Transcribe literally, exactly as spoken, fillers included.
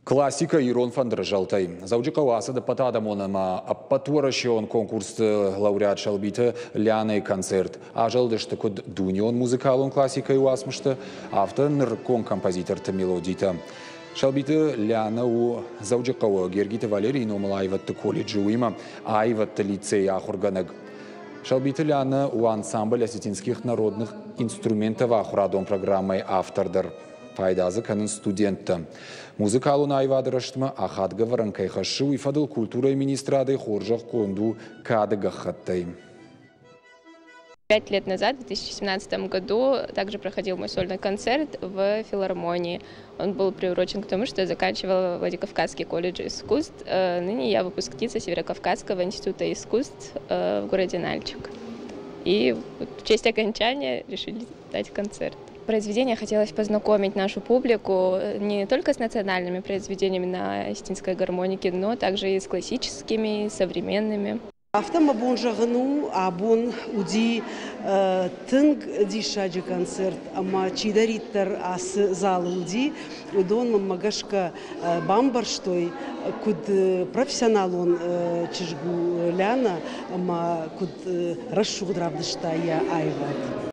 Классикӕ ирон фӕндыры зӕлтӕй. Дзӕуджыхъӕуы ацыд ӕппӕтадӕмон ӕмӕ ӕппӕтуӕрӕсеон конкурсты лауреат Сӕлбиты Лианӕйы концерт. Азӕлдысты куыд дунеон музыкалон классикӕйы уацмыстӕ, афтӕ нырыккон композиторты мелодитӕ. Сӕлбиты Лианӕ у Дзӕуджыхъӕуы Гергиты Валерийы номыл аивӕдты колледжы, уыимӕ аивӕдты лицейы ахуыргӕнӕг. Сӕлбиты Лианӕ у ансамбль осетинских народных инструментов ахуырадон программӕйы автор дӕр. Пайда дзы кӕнынц студенттӕ. Музыкалон аивады рӕзтмӕ ахадгӕ ӕвӕрӕн кӕй хӕссы, уый фӕдыл культурӕйы министрадӕй хорзӕхгонд у кады гӕххӕттӕй. Пять лет назад, в две тысячи семнадцатом году, также проходил мой сольный концерт в филармонии. Он был приурочен к тому, что я заканчивала Владикавказский колледж искусств. Э, ныне я выпускница Северокавказского института искусств э, в городе Нальчик. И в честь окончания решили дать концерт. Произведение хотелось познакомить нашу публику не только с национальными произведениями на осетинской гармонике, но также и с классическими, и современными. Афтӕ мӕ бон зӕгъын у, абон уыди тынг диссаджы концерт ӕмӕ чидӕриддӕр ацы залы уыди, уыдон мӕнмӕ гӕсгӕ бамбӕрстой, куыд профессионалон чызг у Лиана ӕмӕ куыд рӕсугъд равдыста йӕ аивад.